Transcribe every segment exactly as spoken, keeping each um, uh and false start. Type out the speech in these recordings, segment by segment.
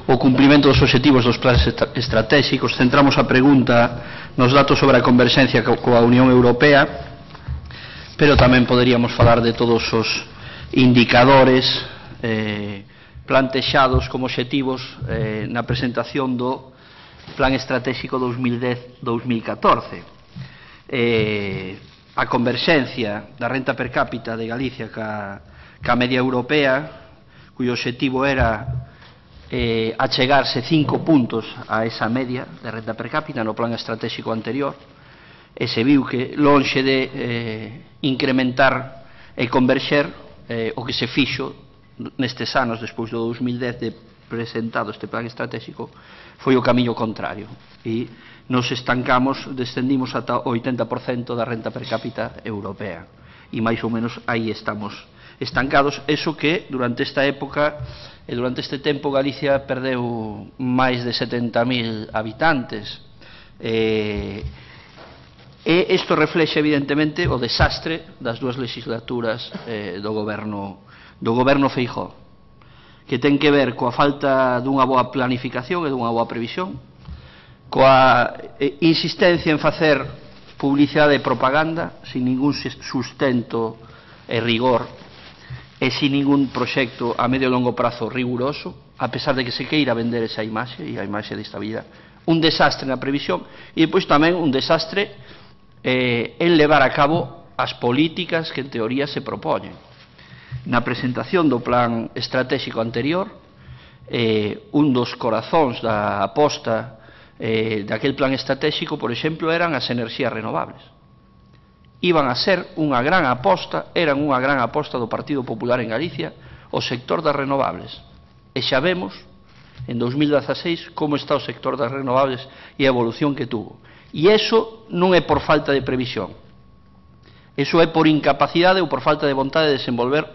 o cumprimento dos obxectivos dos planes estratégicos. Centramos a pregunta nos datos sobre a converxencia coa Unión Europea, pero tamén poderíamos falar de todos os indicadores eh, plantexados como obxectivos eh, na presentación do Plan Estratégico dos mil dez a dos mil catorce. Eh, a converxencia da renta per cápita de Galicia ca, ca media europea, cuyo obxectivo era eh, achegarse cinco puntos a esa media de renta per cápita no plan estratégico anterior, e se viu que lonxe de eh, incrementar e converxer eh, o que se fixo nestes anos despois do dos mil dez de presentado este plan estratégico foi o camiño contrario, e nos estancamos, descendimos ata o oitenta por cento da renta per cápita europea, e máis ou menos aí estamos estancados. Eso que durante esta época e durante este tempo Galicia perdeu máis de setenta mil habitantes, e, e isto reflexe evidentemente o desastre das dúas legislaturas eh, do goberno do goberno Feijóo, que ten que ver coa falta dunha boa planificación e dunha boa previsión, coa insistencia en facer publicidade e propaganda sin ningún sustento e rigor e sin ningún proxecto a medio e longo prazo riguroso, a pesar de que se queira vender esa imaxe e a imaxe de estabilidade. Un desastre na previsión e depois tamén un desastre eh, en levar a cabo as políticas que en teoría se propoñen. Na presentación do plan estratégico anterior, eh, un dos corazóns da aposta eh, daquel plan estratégico, por exemplo, eran as enerxías renovables. Iban a ser unha gran aposta, eran unha gran aposta do Partido Popular en Galicia, o sector das renovables. E xa vemos, en dos mil dezaseis, como está o sector das renovables e a evolución que tuvo. E iso non é por falta de previsión, iso é por incapacidade ou por falta de vontade de desenvolver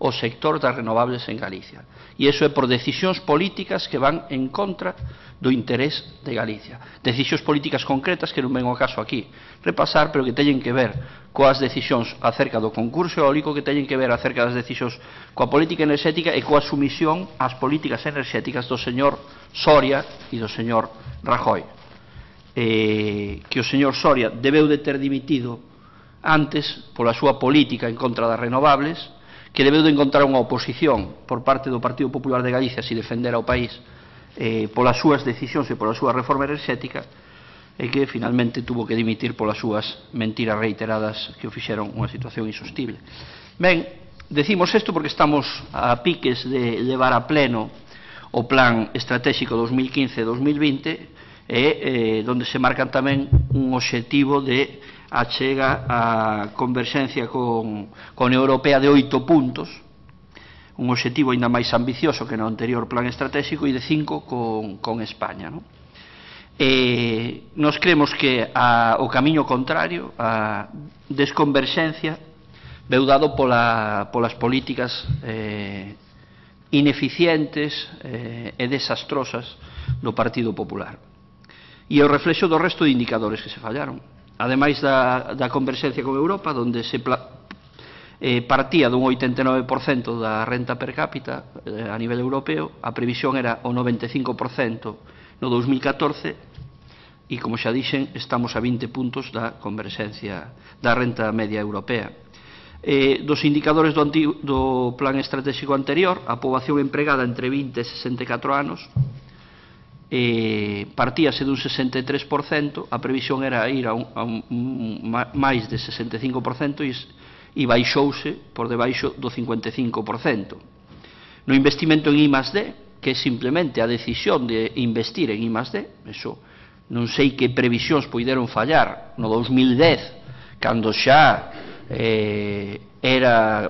o sector das renovables en Galicia. E iso é por decisións políticas que van en contra do interés de Galicia. Decisións políticas concretas que non ven o caso aquí repasar, pero que teñen que ver coas decisións acerca do concurso eólico, que teñen que ver acerca das decisións coa política enerxética e coa sumisión ás políticas enerxéticas do señor Soria e do señor Rajoy. Eh, que o señor Soria debeu de ter dimitido antes pola súa política en contra das renovables, que debeu de encontrar unha oposición por parte do Partido Popular de Galicia se defender ao país eh, polas súas decisións e pola súa reforma enerxética, e que finalmente tuvo que dimitir polas súas mentiras reiteradas que o fixeron unha situación insostible. Ben, decimos isto porque estamos a piques de levar a pleno o plan estratégico dos mil quince a dos mil vinte, e eh, donde se marcan tamén un obxectivo de achega a converxencia con, con Europea de oito puntos, un obxectivo ainda máis ambicioso que no anterior plan estratégico, e de cinco con, con España, non? E nos creemos que a, o camiño contrario, a desconverxencia, veu dado pola, polas políticas eh, ineficientes eh, e desastrosas do Partido Popular, e o reflexo do resto de indicadores que se fallaron. Ademais da, da converxencia con Europa, onde se pla, eh, partía dun oitenta e nove por cento da renta per cápita eh, a nivel europeo, a previsión era o noventa e cinco por cento no dos mil catorce, e, como xa dixen, estamos a vinte puntos da converxencia da renta media europea. Eh, dos indicadores do, antigo, do plan estratégico anterior, a poboación empregada entre vinte e sesenta e catro anos, Eh, partíase dun sesenta e tres por cento, a previsión era ir a, un, a un, un, máis de sesenta e cinco por cento, e, e baixouse por debaixo do cincuenta e cinco por cento. No investimento en I más D, que é simplemente a decisión de investir en I más D, eso non sei que previsións poideron fallar no dos mil dez, cando xa eh, era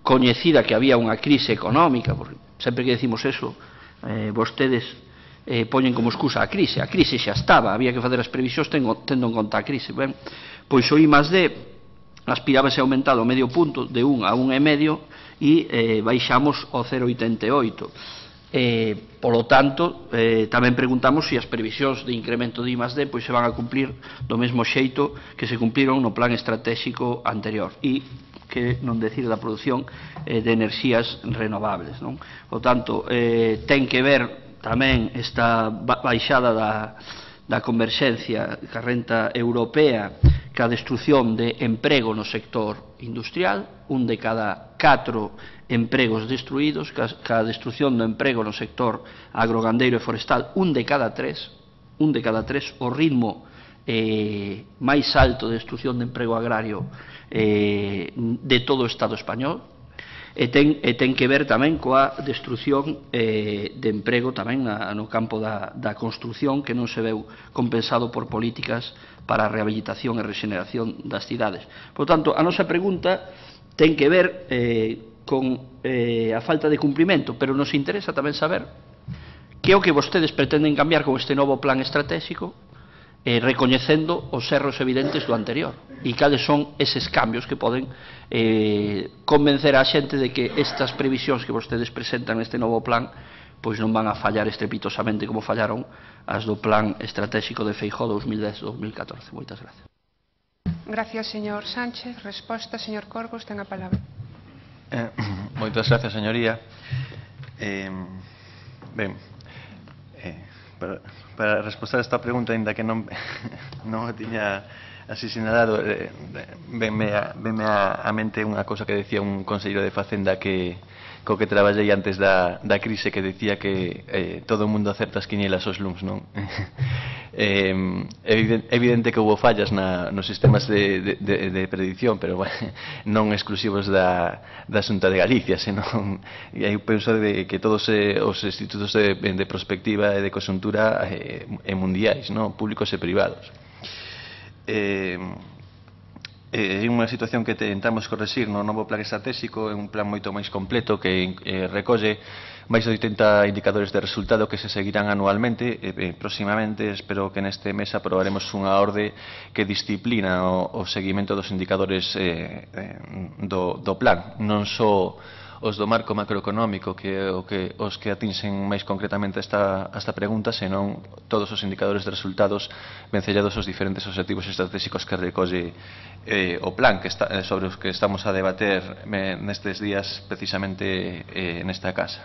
coñecida que había unha crise económica, porque sempre que decimos eso, eh, vostedes Eh, poñen como excusa a crise. A crise xa estaba, había que facer as previsións tendo, tendo en conta a crise. Ben, pois o I más D aspirábase a aumentar o medio punto de un a un e medio, e eh, baixamos ao cero vírgula oitenta e oito. Eh, polo tanto, eh, tamén preguntamos se as previsións de incremento de I más D pois se van a cumplir do mesmo xeito que se cumpliron no plan estratégico anterior, e que non decir da produción eh, de enerxías renovables, non? Por tanto, eh, ten que ver tamén esta baixada da, da converxencia ca renta europea ca destrucción de emprego no sector industrial, un de cada catro empregos destruídos, ca destrucción do emprego no sector agrogandeiro e forestal, un de cada tres, un de cada tres, o ritmo eh, máis alto de destrucción de emprego agrario eh, de todo o Estado español. E ten, e ten que ver tamén coa destrucción eh, de emprego tamén na, no campo da, da construción, que non se veu compensado por políticas para a rehabilitación e regeneración das cidades. Por tanto, a nosa pregunta ten que ver eh, con eh, a falta de cumprimento, pero nos interesa tamén saber que é o que vostedes pretenden cambiar con este novo plan estratégico, eh, recoñecendo os erros evidentes do anterior, e cales son eses cambios que poden eh, convencer a xente de que estas previsións que vostedes presentan neste novo plan pois non van a fallar estrepitosamente como fallaron as do plan estratégico de Feijóo dos mil dez a dos mil catorce. Moitas gracias. Gracias, señor Sánchez. Resposta, señor Corgos, ten a palabra. Eh, moitas gracias, señoría. Eh, ben, eh, para, para responder a esta pregunta, ainda que non, non o tiña así sinalado, eh, venme, a, venme a, a mente unha cosa que decía un conselleiro de Facenda que co que traballei antes da, da crise, que decía que eh, todo o mundo acerta as quinielas aos luns, non? eh, evidente, evidente que houve fallas na, nos sistemas de, de, de predicción, pero bueno, non exclusivos da, da Xunta de Galicia, senón, e aí penso de que todos eh, os institutos de, de prospectiva e de conxuntura eh, e mundiais, non? Públicos e privados. Eh, É unha situación que tentamos correxir no novo plan estratégico, é un plan moito máis completo que eh, recolle máis de oitenta indicadores de resultado que se seguirán anualmente. Eh, próximamente espero que neste mes aprobaremos unha orde que disciplina o, o seguimento dos indicadores eh, eh, do, do plan, non só os do marco macroeconómico, que é o que, os que atinxen máis concretamente esta, esta pregunta, senón todos os indicadores de resultados vencellados aos diferentes objetivos estratégicos que recolle eh, o plan que está, sobre os que estamos a debater eh, nestes días precisamente eh, nesta casa.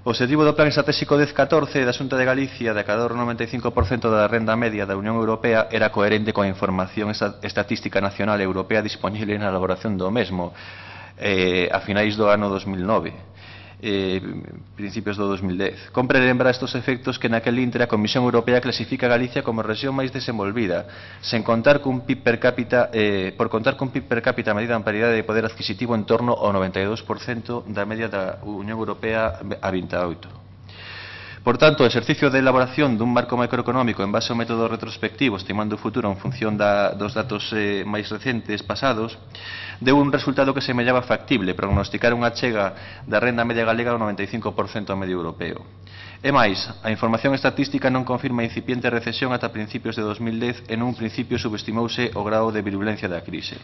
O objetivo do Plan Estratégico dez catorce da Xunta de Galicia de acadar o noventa e cinco por cento da renda media da Unión Europea era coherente coa información estatística nacional e europea disponible na elaboración do mesmo eh, a finais do ano dos mil nove, eh, principios do dos mil dez. Compre lembrar estes efectos que naquel intre a Comisión Europea clasifica a Galicia como rexión máis desenvolvida, sen contar cun P I B per cápita, eh, por contar cun P I B per cápita medida en paridade de poder adquisitivo en torno ao noventa e dous por cento da media da Unión Europea a vinte e oito. Por tanto, o exercicio de elaboración dun marco macroeconómico en base ao método retrospectivo, estimando o futuro en función da, dos datos eh, máis recentes pasados, deu un resultado que semellaba factible, prognosticar unha chega da renda media galega ao noventa e cinco por cento ao medio europeo. E máis, a información estatística non confirma a incipiente recesión ata principios de dos mil dez e nun principio subestimouse o grado de virulencia da crise.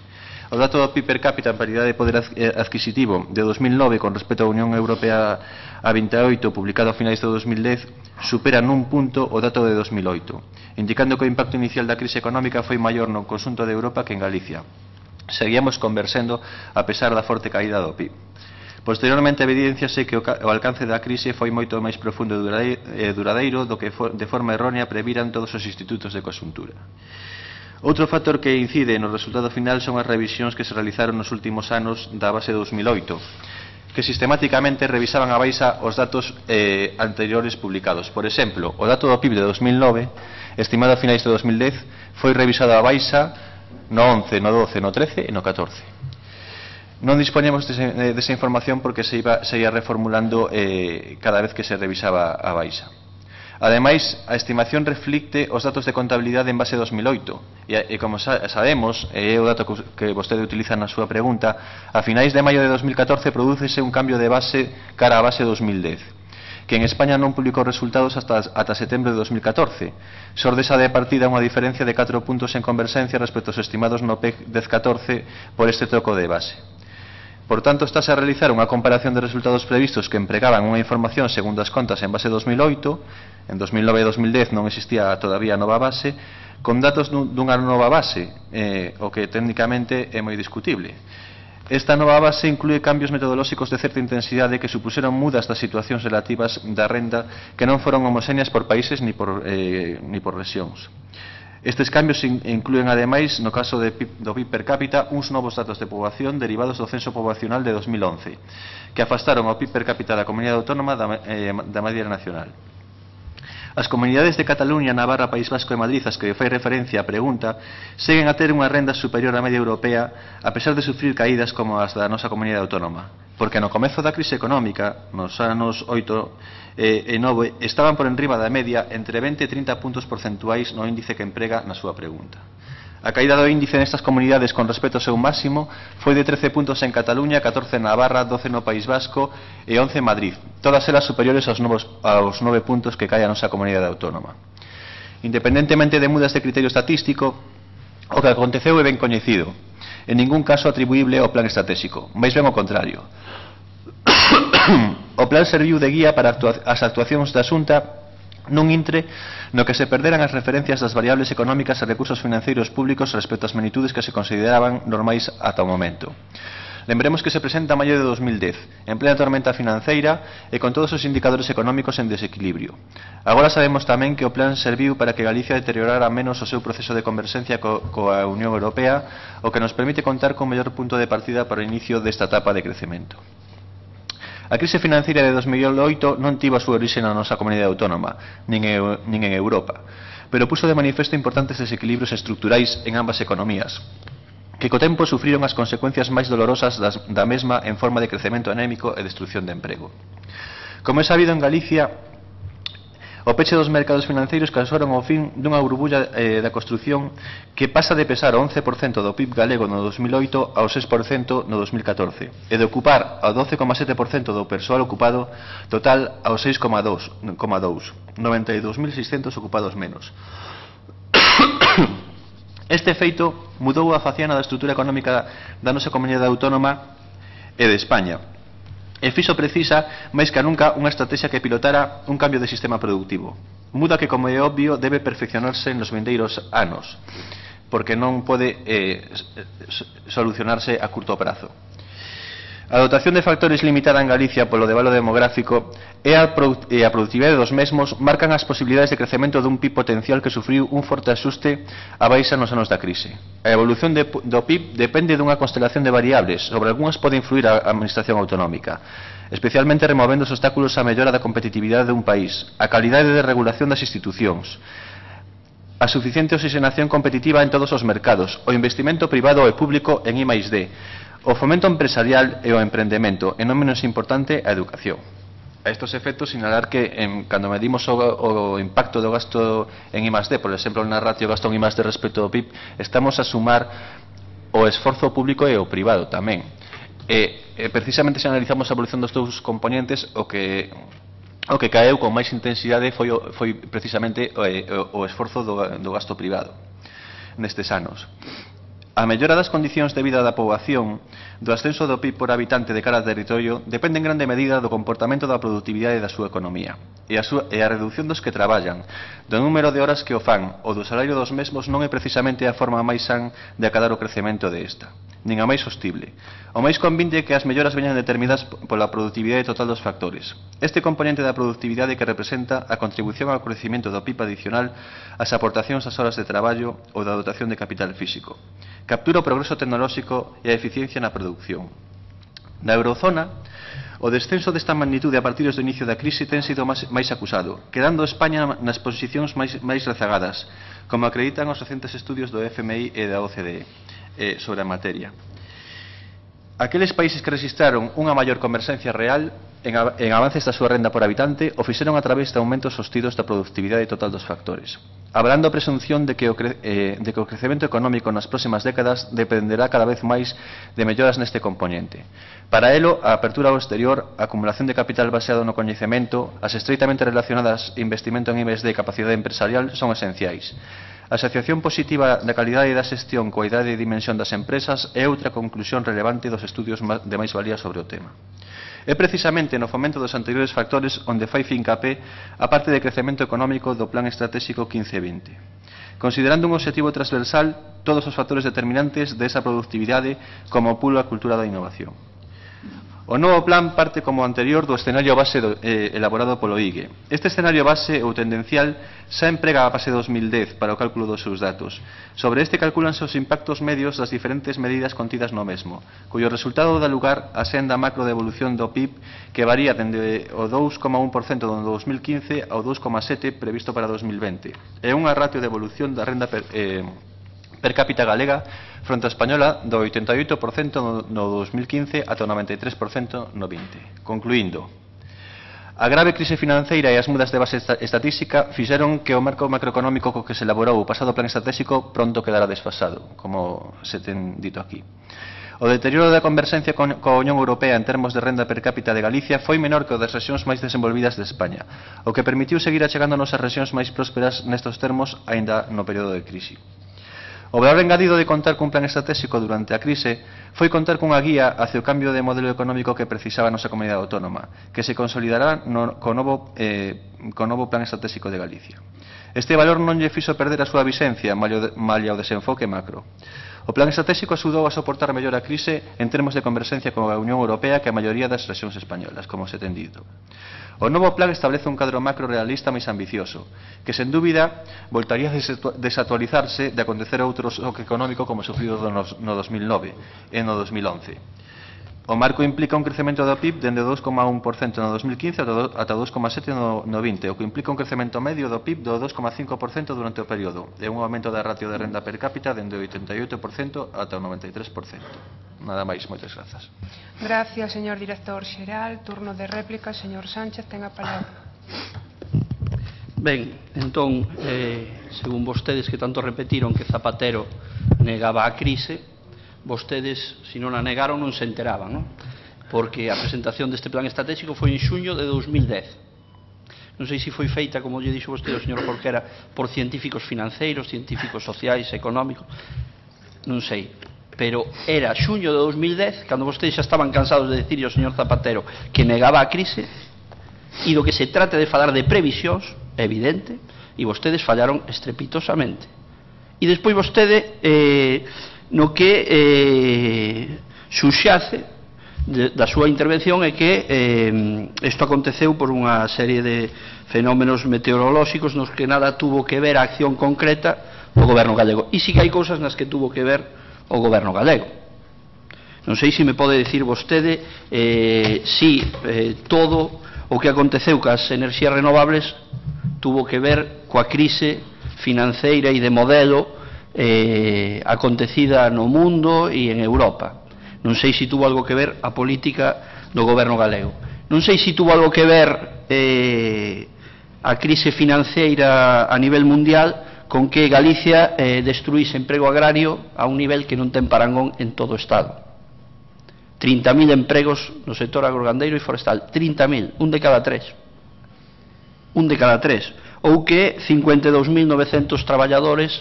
O dato do P I B per cápita en paridade de poder adquisitivo de dos mil nove con respecto á Unión Europea a vinte e oito, publicado a finais de dos mil dez, supera nun punto o dato de dos mil oito, indicando que o impacto inicial da crise económica foi maior no conxunto de Europa que en Galicia. Seguíamos conversando a pesar da forte caída do P I B. Posteriormente evidenciase que o alcance da crise foi moito máis profundo e duradeiro do que de forma errónea previran todos os institutos de conxuntura. Outro factor que incide no resultado final son as revisións que se realizaron nos últimos anos da base de dos mil oito, que sistemáticamente revisaban a baixa os datos eh, anteriores publicados. Por exemplo, o dato do P I B de dos mil nove, estimado a finais de dos mil dez, foi revisado a baixa no once, no doce, no trece e no catorce. Non dispoñemos desa, desa información porque se, iba, se ia reformulando eh, cada vez que se revisaba a baixa. Ademais, a estimación reflicte os datos de contabilidade en base a dos mil oito e, e como sa, sabemos, é o dato que, que vostede utiliza na súa pregunta, a finais de maio de dos mil catorce prodúcese un cambio de base cara a base dos mil dez, que en España non publicou resultados hasta, ata setembro de dos mil catorce. Sordesa de partida unha diferencia de catro puntos en converxencia respecto aos estimados no P E C dez catorce por este troco de base. Por tanto, estáse a realizar unha comparación de resultados previstos que empregaban unha información segundo as contas en base dos mil oito, en dos mil nove e dos mil dez non existía todavía nova base, con datos dunha nova base, eh, o que técnicamente é moi discutible. Esta nova base inclúe cambios metodolóxicos de certa intensidade que supuseron mudas das situacións relativas da renda que non foron homoxéneas por países ni por, eh, ni por rexións. Estes cambios inclúen, ademais, no caso de, do P I B per cápita, uns novos datos de poboación derivados do censo poboacional de dos mil once, que afastaron o P I B per cápita da comunidade autónoma da, eh, da media nacional. As comunidades de Cataluña, Navarra, País Vasco e Madrid, as que fai referencia a pregunta, seguen a ter unha renda superior á media europea a pesar de sufrir caídas como as da nosa comunidade autónoma, porque no comezo da crise económica, nos anos oito e nove, estaban por enriba da media entre vinte e trinta puntos porcentuais no índice que emprega na súa pregunta. A caída do índice nestas comunidades con respecto ao seu máximo foi de trece puntos en Cataluña, catorce en Navarra, doce no País Vasco e once en Madrid, todas elas superiores aos, novos, aos nove puntos que cae a nosa comunidade autónoma. Independentemente de mudas de criterio estatístico, o que aconteceu é ben coñecido, en ningún caso atribuible ao plan estratégico, máis ben ao contrario. O plan serviu de guía para as actuacións da Xunta nun intre no que se perderan as referencias das variables económicas e recursos financeiros públicos respecto ás magnitudes que se consideraban normais ata o momento. Lembremos que se presenta a maio de dos mil dez, en plena tormenta financeira e con todos os indicadores económicos en desequilibrio. Agora sabemos tamén que o plan serviu para que Galicia deteriorara menos o seu proceso de converxencia co, coa Unión Europea, o que nos permite contar con mellor punto de partida para o inicio desta etapa de crecemento. A crise financeira de dos mil oito non tivo a súa orixe na nosa comunidade autónoma, nin, e, nin en Europa, pero puso de manifesto importantes desequilibrios estruturais en ambas economías, que co tempo sufriron as consecuencias máis dolorosas das, da mesma en forma de crecemento anémico e destrucción de emprego. Como é sabido, en Galicia, o peche dos mercados financeiros causaron o fin dunha burbulla eh, da construción que pasa de pesar o once por cento do P I B galego no dos mil oito ao seis por cento no dos mil catorce e de ocupar ao doce coma sete por cento do persoal ocupado total ao seis coma dous por cento, noventa e dous mil seiscentos ocupados menos. Este feito mudou a faciana da estrutura económica da nosa comunidade autónoma e de España, e fixo precisa, máis que nunca, unha estrategia que pilotara un cambio de sistema productivo. Muda que, como é obvio, debe perfeccionarse nos vindeiros anos, porque non pode eh, solucionarse a curto prazo. A dotación de factores limitada en Galicia polo devalo demográfico e a, e a productividade dos mesmos marcan as posibilidades de crecemento dun P I B potencial que sufriu un forte axuste a baixa nos anos da crise. A evolución de, do P I B depende dunha constelación de variables, sobre algunhas pode influir a administración autonómica, especialmente removendo os obstáculos á mellora da competitividade dun país, a calidade de regulación das institucións, a suficiente oxigenación competitiva en todos os mercados, o investimento privado e público en I máis D, o fomento empresarial e o emprendemento, e non menos importante, a educación. A estos efectos, sinalar que en, cando medimos o, o impacto do gasto en I máis D, por exemplo, na ratio gasto en I máis D respecto ao P I B, estamos a sumar o esforzo público e o privado tamén. E, e precisamente se analizamos a evolución dos dous componentes, o que o que caeu con máis intensidade foi, o, foi precisamente o, o esforzo do, do gasto privado nestes anos. A mellora das condicións de vida da poboación, do ascenso do P I B por habitante de cada territorio, depende en grande medida do comportamento da productividade da súa economía e a, súa, e a reducción dos que traballan, do número de horas que o fan ou do salario dos mesmos non é precisamente a forma máis san de acadar o crecemento desta, nin a máis sostible. O máis convinte é que as melloras veñan determinadas pola productividade total dos factores. Este componente da productividade que representa a contribución ao crecemento do P I B adicional, as aportacións ás horas de traballo ou da dotación de capital físico. Captura o progreso tecnolóxico e a eficiencia na produción. Na eurozona, o descenso desta magnitude a partir do inicio da crise ten sido máis, máis acusado, quedando España nas posicións máis, máis rezagadas, como acreditan os recentes estudios do F M I e da O C D E eh, sobre a materia. Aqueles países que registraron unha maior converxencia real en, en avances da súa renda por habitante o fixeron a través de aumentos sostidos da productividade total dos factores, abrando a presunción de que, o cre, eh, de que o crecemento económico nas próximas décadas dependerá cada vez máis de melloras neste componente. Para elo, a apertura ao exterior, a acumulación de capital baseado no coñecemento, as estreitamente relacionadas investimento en I máis D e capacidade empresarial son esenciais. A asociación positiva da calidade da xestión coa idade e dimensión das empresas é outra conclusión relevante dos estudios de máis valía sobre o tema. É precisamente no fomento dos anteriores factores onde fai fincapé a parte de crecemento económico do Plan Estratégico quince vinte. considerando un objetivo transversal todos os factores determinantes desa productividade como o pulo a cultura da innovación. O novo plan parte como anterior do escenario base do, eh, elaborado polo I G E. Este escenario base ou tendencial xa emprega a base dos mil dez para o cálculo dos seus datos. Sobre este calculanse os impactos medios das diferentes medidas contidas no mesmo, cuyo resultado dá lugar á senda macro de evolución do P I B que varía dende o dous coma un por cento do dos mil quince ao dous coma sete por cento previsto para dos mil vinte. É unha ratio de evolución da renda per, eh, per cápita galega fronte a española do oitenta e oito por cento no dos mil quince ata o noventa e tres por cento no vinte. Concluindo, a grave crise financeira e as mudas de base estatística fixeron que o marco macroeconómico co que se elaborou o pasado plan estratégico pronto quedara desfasado, como se ten dito aquí. O deterioro da converxencia con a Unión Europea en termos de renda per cápita de Galicia foi menor que o das rexións máis desenvolvidas de España, o que permitiu seguir achegándonos as rexións máis prósperas nestes termos aínda no período de crise. O valor engadido de contar cun plan estratégico durante a crise foi contar cunha guía hacia o cambio de modelo económico que precisaba a nosa comunidade autónoma, que se consolidará no, co, novo, eh, co novo plan estratégico de Galicia. Este valor non lle fixo perder a súa vixencia malia o desenfoque macro. O plan estratégico axudou a soportar mellor a crise en termos de converxencia con a Unión Europea que a maioría das rexións españolas, como se ten dito. O novo plan establece un cadro macro realista máis ambicioso, que sen dúbida voltaría a desactualizarse de acontecer outro xoque económico como sufrido no dos mil nove e no dos mil once. O marco implica un crecemento do P I B dende o dous coma un por cento no dos mil quince ata o dous coma sete por cento no vinte, o que implica un crecemento medio do P I B do dous coma cinco por cento durante o período e un aumento da ratio de renda per cápita dende o oitenta e oito por cento ata o noventa e tres por cento. Nada máis, moitas grazas. Gracias, señor director xeral. Turno de réplica, señor Sánchez, ten a palabra. Ben, entón, eh, según vostedes que tanto repetiron que Zapatero negaba a crise, vostedes, se non a negaron, non se enteraban, non? Porque a presentación deste plan estratégico foi en xuño de dos mil dez. Non sei se foi feita, como lle dixo vostede o señor Jorquera, por científicos financeiros, científicos sociais, económicos, non sei. Pero era xuño de dos mil dez, cando vostedes xa estaban cansados de decirle ao señor Zapatero que negaba a crise, e do que se trata de falar de previsións, é evidente, e vostedes fallaron estrepitosamente. E despois vostede, eh, no que eh, suxace de, da súa intervención é que eh, isto aconteceu por unha serie de fenómenos meteorolóxicos nos que nada tuvo que ver a acción concreta do goberno gallego. E si que hai cousas nas que tuvo que ver o goberno galego. Non sei se me pode dicir vostede eh, si eh, todo o que aconteceu cas enerxías renovables tuvo que ver coa crise financeira e de modelo eh, acontecida no mundo e en Europa. Non sei se tuvo algo que ver a política do goberno galego. Non sei se tuvo algo que ver eh, a crise financeira a nivel mundial con que Galicia eh, destruíse emprego agrario a un nivel que non ten parangón en todo o Estado. trinta mil empregos no sector agrogandeiro e forestal, trinta mil, un de cada tres. Un de cada tres. Ou que cincuenta e dous mil novecentos traballadores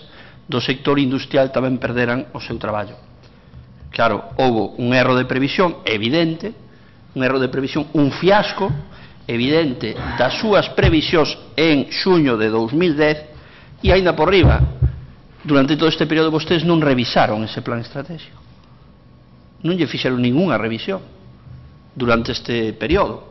do sector industrial tamén perderan o seu traballo. Claro, houve un erro de previsión evidente, un erro de previsión, un fiasco evidente das súas previsións en xuño de dos mil dez. E ainda por riba, durante todo este período vostedes non revisaron ese plan estratégico. Non lle fixeron ningunha revisión durante este período.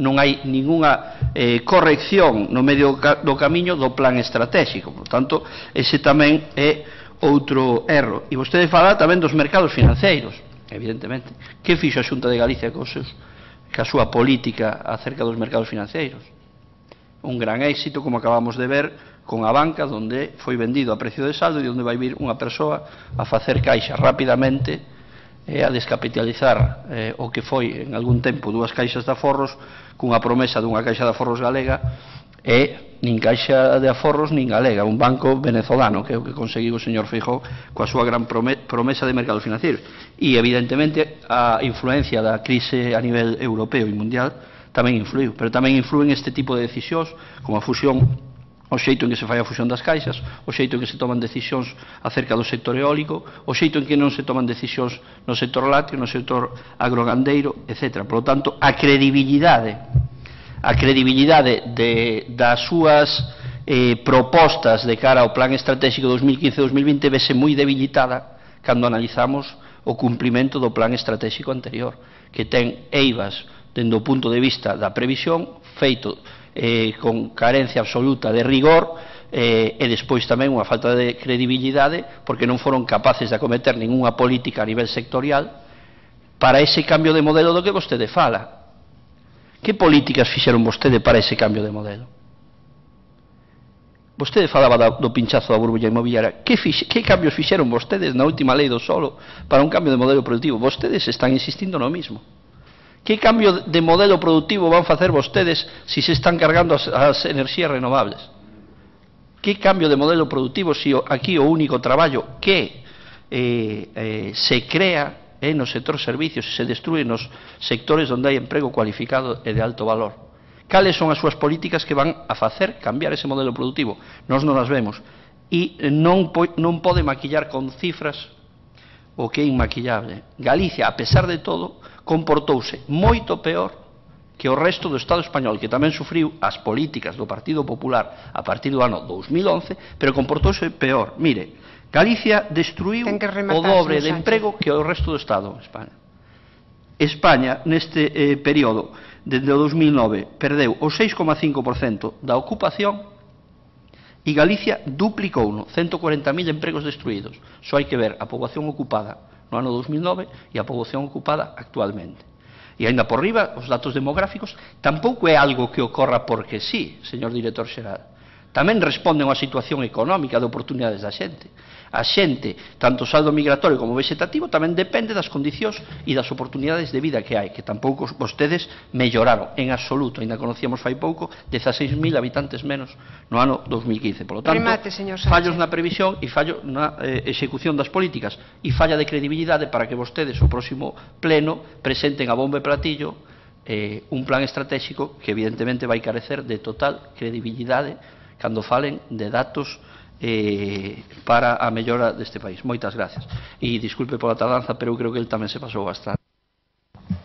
Non hai ningunha eh, corrección no medio do camiño do plan estratégico. Por tanto, ese tamén é outro erro. E vostede fala tamén dos mercados financeiros, evidentemente. Que fixo a Xunta de Galicia cos seus, ca súa política acerca dos mercados financeiros? Un gran éxito, como acabamos de ver, con a banca, onde foi vendido a precio de saldo e onde vai vir unha persoa a facer caixa rapidamente e a descapitalizar eh, o que foi en algún tempo dúas caixas de aforros cunha promesa dunha caixa de aforros galega e nin caixa de aforros nin galega, un banco venezolano, que é o que conseguiu o señor Feijóo coa súa gran promesa de mercados financeiros. E evidentemente a influencia da crise a nivel europeo e mundial tamén influiu, pero tamén influen este tipo de decisións como a fusión, o xeito en que se fai a fusión das caixas, o xeito en que se toman decisións acerca do sector eólico, o xeito en que non se toman decisións no sector lácteo, no sector agrogandeiro, etcétera. Por lo tanto, a credibilidade a credibilidade de, das súas eh, propostas de cara ao plan estratégico dos mil quince a dos mil vinte vese moi debilitada cando analizamos o cumprimento do plan estratégico anterior, que ten eivas dende o punto de vista da previsión, feito eh, con carencia absoluta de rigor, eh, e despois tamén unha falta de credibilidade, porque non foron capaces de acometer ninguna política a nivel sectorial para ese cambio de modelo do que vostede fala. Que políticas fixeron vostede para ese cambio de modelo? Vostede falaba do pinchazo da burbulla inmobiliaria. Que, fixe, que cambios fixeron vostedes na última lei do solo para un cambio de modelo productivo? Vostedes están insistindo no mismo. Que cambio de modelo productivo van facer vostedes se se están cargando as, as enerxías renovables? Que cambio de modelo productivo se aquí o único traballo que eh, eh, se crea é no sector servicios e se destrue nos sectores onde hai emprego cualificado e de alto valor? Cales son as súas políticas que van a facer cambiar ese modelo productivo? Nós non as vemos. E non, non pode maquillar con cifras o que é inmaquillable. Galicia, a pesar de todo, comportouse moito peor que o resto do Estado español, que tamén sufriu as políticas do Partido Popular a partir do ano dos mil once, pero comportouse peor. Mire, Galicia destruiu o dobre de emprego que o resto do Estado en España. España, neste eh, período, desde o dos mil nove, perdeu o seis coma cinco por cento da ocupación e Galicia duplicou no ciento cuarenta mil empregos destruídos. Só hai que ver a poboación ocupada no ano dos mil nove e a poboación ocupada actualmente. E ainda por riba, os datos demográficos tampouco é algo que ocorra porque sí, señor director xeral. Tamén responden a situación económica de oportunidades da xente. A xente, tanto o saldo migratorio como vegetativo, tamén depende das condicións e das oportunidades de vida que hai, que tampouco vostedes melloraron en absoluto. Ainda conocíamos fai pouco dezaseis mil habitantes menos no ano dos mil quince. Por lo tanto, Remate, fallos na previsión e fallo na eh, execución das políticas e falla de credibilidade para que vostedes o próximo pleno presenten a bombo e platillo eh, un plan estratégico que evidentemente vai carecer de total credibilidade cando falen de datos eh, para a mellora deste país. Moitas gracias. E disculpe pola tardanza, pero eu creo que el tamén se pasou bastante.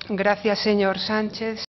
Gracias, señor Sánchez.